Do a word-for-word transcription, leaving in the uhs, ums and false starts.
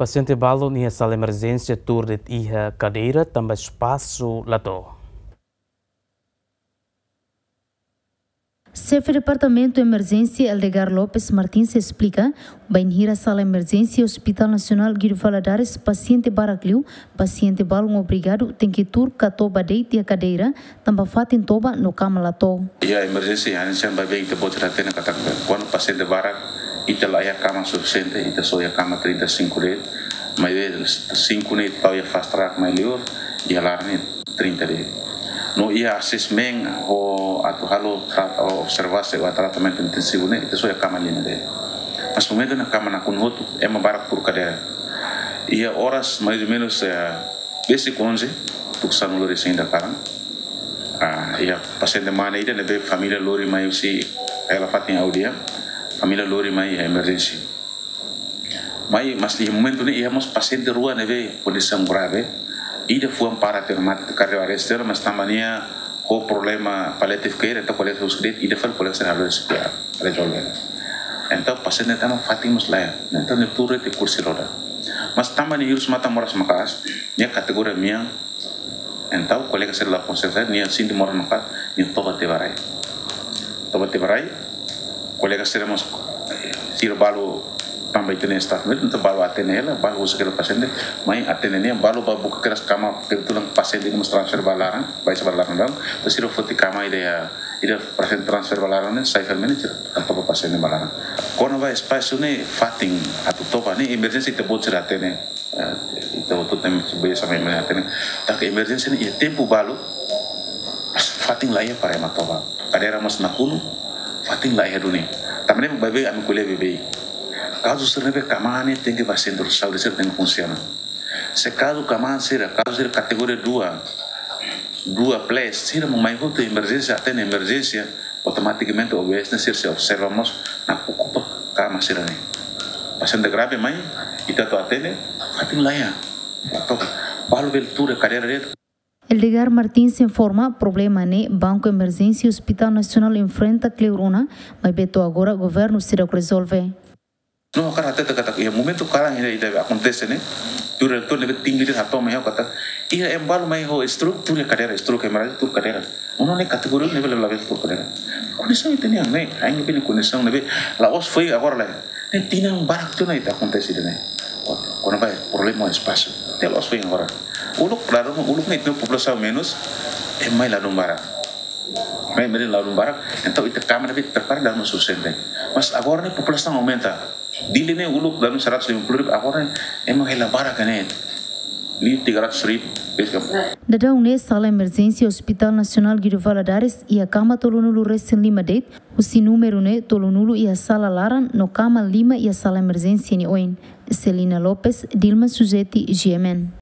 Pasiente balun iha sala emerjénsia tuur de'it iha kadeira tanba espasu la to'o. Xefe Departamentu Emerjénsia Eldegar Lopes Martins esplika, bainhira sala emerjénsia Hospital Nasionál Guido Valadares pasiente barak liu, pasiente balun obrigadu tenke tuur ka toba de'it iha kadeira, tanba fatin toba no kama la to'o. Iha emerjénsia, hanesan ne'ebé ita-boot sira hatene katak, kuandu pasiente barak, ita la iha kama sufisiente, ita só iha kama trinta e cinco de'it, maibé cinco ne'e tau iha fast track mai liur, iha laran ne'e trinta de'it. No iha assessment ho atu halo tra-, observasaun ba tratamentu intensivu ne'e, ita só iha kama lima de'it. Mas momentu ne'e kama nakonu hotu, ema barak tuur kadeira. Iha oras mais ou menos, eh, besik onze, tuku sanulu resin ida kalan. Ah, iha pasiente mane ida ne'ebé família lori mai husi hela fatin Audia, família lori mai iha emerjénsia. Mai, mas iha momentu ne'e iha mós pasiente rua ne'ebé kondisaun grave. Ida fuan para tiha ona, mat-, cardio arrest tiha ona, mas tanba nia ho problema palliative care, entaun kolega husi de'it, ida fali kolega sira halo C P R, rezolve. Entaun pasiente tama fatin mós la iha. Entaun nia tuur de'it iha kursi roda. Mas tanba nia hirus matan moras maka'as, nia kategoria mean, entaun kolega sira la konsiénsia, nia sente moras maka'as, nia toba tiha ba rai. Toba tiha ba rai, kolega sira mós, sira balu tanba ita-nia staff médiku, entaun balu atende hela, balu husik hela pasiente, mai atende nia, balu bá buka kedas kama, kebetulan pasiente ne'e mós transfer ba laran, bá hasoru ba laran daudaun, entaun sira foti kama ida, ida pasiente transfer ba laran ne'e, sai fali mai ne'e sira toba pasiente ba laran. Kona-ba espasu ne'e fatin atu toba ne'e emerjénsia ita-boot sira hatene. Eh, ita hotu temi sebagai sama yang melihat ini. Tanba emerjénsia ne'e iha tempu balu, fatin la iha para ema toba. Kadeira mós nakonu, fatin la iha duni. Tanba ne'e baibain ami ko'alia baibain. Kazu sira ne'ebé kama ne'e tenke ba sentru saúde sira tenke funsiona. Se kazu kama sira, kazu sira kategoria dua, dua plus, sira mai hotu emerjénsia, atende emerjénsia, automatikamente O B S ne'e sira sei observa mós, nakupa kama sira ne'e. Pasiente grave mai, ita atu atende, fatin la iha. La toba. Balu bele tuur iha kadeira de'it. Eldegar Martins informa, problema ne'e Banku Emerjénsia Hospital Nasionál enfrenta kleur ona, maibé to'o agora governu seidauk rezolve. No, ha'u hakarak hatete katak, iha momentu kalan ida, ida akontese ne'e, tuur, tuur ne'ebé tinggi de'it hato'o mai ha'u katak, iha ema balu mai ho stroke, tuur iha kadeira, stroke hemorragia, tuur kadeira. Nune'e kategoria ne'ebé labele tuur kadeira. Kondisaun ita-nian ne'e, ain ne'ebé nia kondisaun ne'ebé, la'ós foin agora lai. Ne'e tinan barak tiha ona ita akontese ida-ne'e. Kona-ba problema espasu. Ne'e la'ós foin agora. Uluk, klaru, uluk ne'e ita-nia populasaun menus, ema mai ladún barak. Mai, mai ladún barak, entaun ita kama ne'ebé prepara dala ruma sufisiente. Mas agora ne'e populasaun aumenta. Dili ne'e uluk dala ruma seratus lima puluh ribu, agora ne'e ema hela barak ne'e. Liu tiga ratus ribu, bes kam. Daudaun ne'e sala emerjénsia Hospital Nasionál Guido Valadares iha kama tolunulu resin lima de'it, husi númeru ne'e tolunulu iha sala laran no kama lima iha sala emerjénsia nia oin. Celina Lopes, Dilma Suzeti, G M N.